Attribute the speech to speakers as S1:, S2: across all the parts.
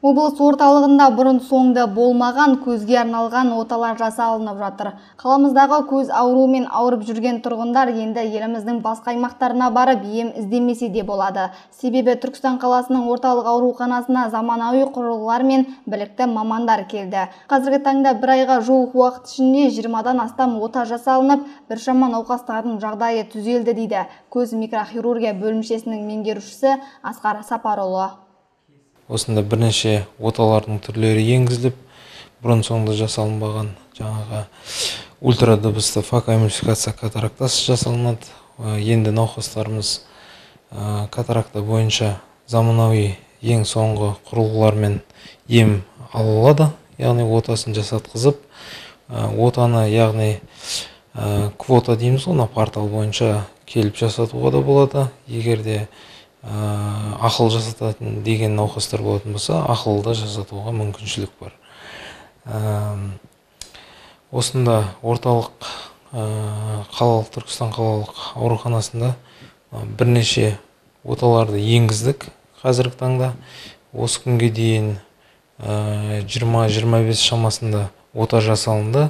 S1: Облыс орталығында бұрын соңды болмаған көзге арналған оталар жасалынып жатыр. Қаламыздағы көз ауруымен ауырып жүрген тұрғындар енді еліміздің басқа аймақтарына барып ем іздемесе де болады. Себебі Түркістан қаласының орталық ауруханасына заманауи құрылғылар мен білікті мамандар келді. Қазіргі таңда бір айға жуық уақыт ішінде 20-дан астам ота жасалынып, біршама науқастардың жағдайы түзелді дейді көз микрохирургия бөлімшесінің меңгерушісі Асқар Сапарұлы.
S2: Осында бірнеше оталардың түрлері енгізіліп, бұрын соңды жасалынбаған жаңағы ультрадыбысты факоэмульсификация катарактасы жасалынады. Енді науқастарымыз катаракта бойынша заманауи ең соңғы құрылғылармен ем ала алады, яғни отасын жасатқызып, отаны, яғни квота дейміз ғой, портал бойынша келіп жасатуға да болады. Егер де ақыл жасататын деген науқастар болатын болса, ақылды жасатуға мүмкіншілік бар. Осында Түркістан қалалық ауруханасында бірнеше оталарды енгіздік. Қазіргі таңда осы күнге дейін 20-25 шамасында ота жасалынды.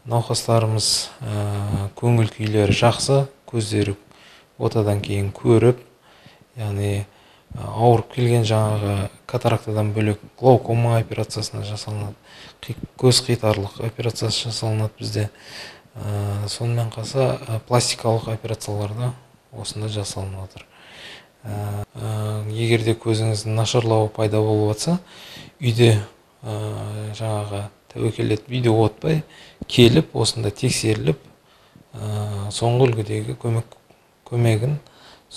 S2: Науқастарымыз көңіл күйлері жақсы, көздері отадан кейін көріп, яғни ауырып келген жаңағы катарактадан бөлек глаукома операциясына жасалынады, көз қитарлық операциясы жасалынады бізде. Сонымен қоса пластикалық операцияларда осында жасалынып отыр. Егер де көзіңіздің нашарлауы пайда болып жатса, үйде жаңағы тәуекел етіп, үйде отпай келіп, осында тексеріліп, соңғы үлгідегі көмегін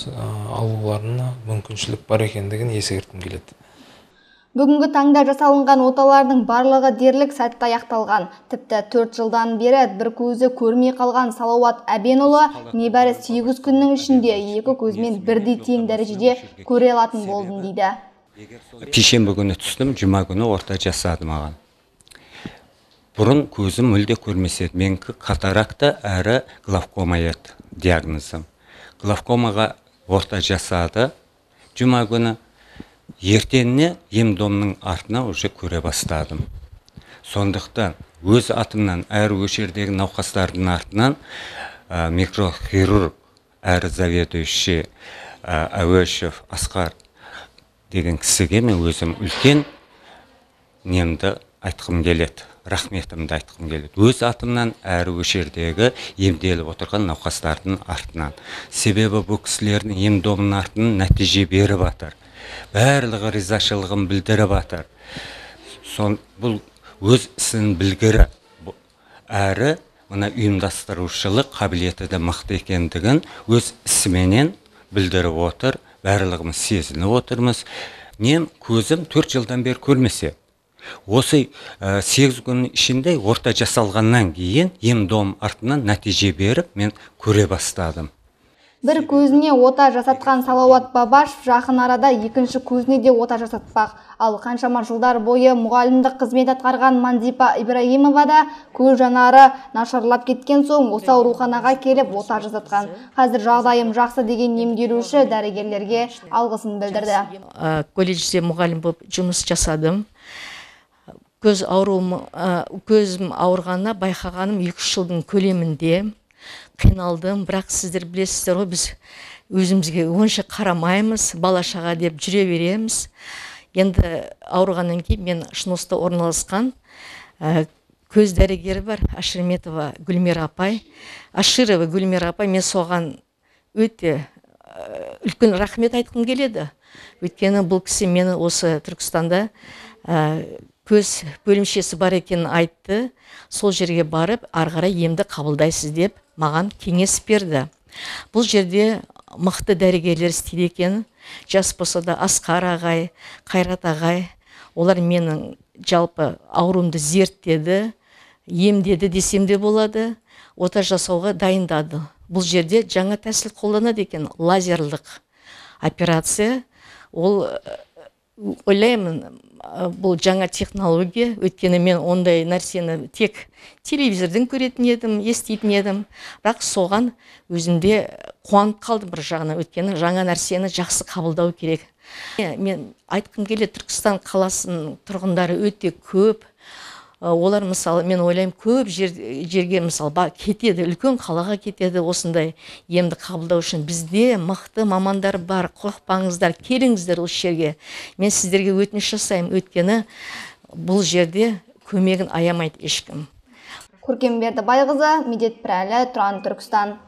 S2: алуларына мүмкіншілік бар екендігін ескерткім келеді.
S1: Бүгінгі таңда жасалынған оталардың барлығы дерлік сәтті аяқталған. Тіпті 4 жылдан бері бір көзі көрмей қалған Салауат Әбенұлы небәрі 8 күннің ішінде екі көзмен бірдей тең дәрежеде көре алатын болдым дейді.
S3: Пешенбі күні түстім, жұма күні орта жасады маған. Бұрын көзім мүлде көрмеседі. Менікі катаракта әрі главкома еді диагнозым. Главкомаға орта жасады. Жұма күні ертеңіне ем-домның артына уже көре бастадым. Сондықтан өз атымнан әрі өшердегі науқастардың артынан микрохирург әрі заведующий Әуешев Асқар деген кісіге мен өзім үлкен немді айтқым келеді. Рахметімді айтқым келеді. Өз атымнан әрі өшердегі емделіп отырған науқастардың артынан. Себебі бұл кісілердің ем-домның артынан нәтиже беріп жатыр. Барлығы ризашылығын білдіріп жатыр. Бұл өз ісін білгірі әрі мына ұйымдастырушылық қабілеті де мықты екендігін өз ісіменен білдіріп отыр. Барлығымыз сезініп отырмыз. Мен көзім 4 жылдан бері көрмесе. Осы 8 күн ішінде орта жасалғаннан кейін ем-дом артынан нәтиже беріп, мен көре бастадым.
S1: Бір көзіне ота жасатқан Салауат Бабашев жақын арада екінші көзіне де ота жасатпақ. Ал қаншама жылдар бойы мұғалімдік қызмет атқарған Мандипа Ибраимова да көз жанары нашарлап кеткен соң осы ауруханаға келіп ота жасатқан. Қазір жағдайым жақсы деген емделуші дәрігерлерге алғысын білдірді.
S4: Колледжде мұғалім болып жұмыс жасадым. Көзім ауырғанына байқағаным 2 жылдың көлемінде қиналдым, бірақ сіздер білесіздер ғой, біз өзімізге онша қарамаймыз, бала-шаға деп жүре береміз. Енді ауырғаннан кейін мен Шыноста орналасқан көз дәрігері бар, Ашырметова Гүлмира апай. Ашырова Гүлмира апай, мен соған өте үлкен рахмет айтқым келеді. Өйткені бұл кісі мені осы Түркістанда көз бөлімшесі бар екенін айтты. Сол жерге барып, арғара емді қабылдайсыз деп маған кеңес берді. Бұл жерде мықты дәрігерлер істейді екен. Жас болса да Асқар ағай, Қайрат ағай, олар менің жалпы ауруымды зерттеді, емдеді десем де болады. Ота жасауға дайындады. Бұл жерде жаңа тәсіл қолданады екен, лазерлік операция. Ол ойлаймын, бұл жаңа технология, өйткені мен ондай нәрсені тек телевизорден көретін едім, еститін едім. Бірақ соған өзімде қуанып қалдым бір жағынан, өйткені жаңа нәрсені жақсы қабылдау керек. Мен айтқым келеді, Түркістан қаласының тұрғындары өте көп. Олар мысалы, мен ойлаймын, көп жерге мысалы кетеді, үлкен қалаға кетеді осындай емді қабылдау үшін. Бізде мықты мамандар бар, қорықпаңыздар, келіңіздер осы жерге. Мен сіздерге өтініш жасаймын, өйткені бұл жерде көмегін аямайды ешкім.
S1: Көркем Бердібайқызы, Медет Пірәлі, Тұран, Түркістан.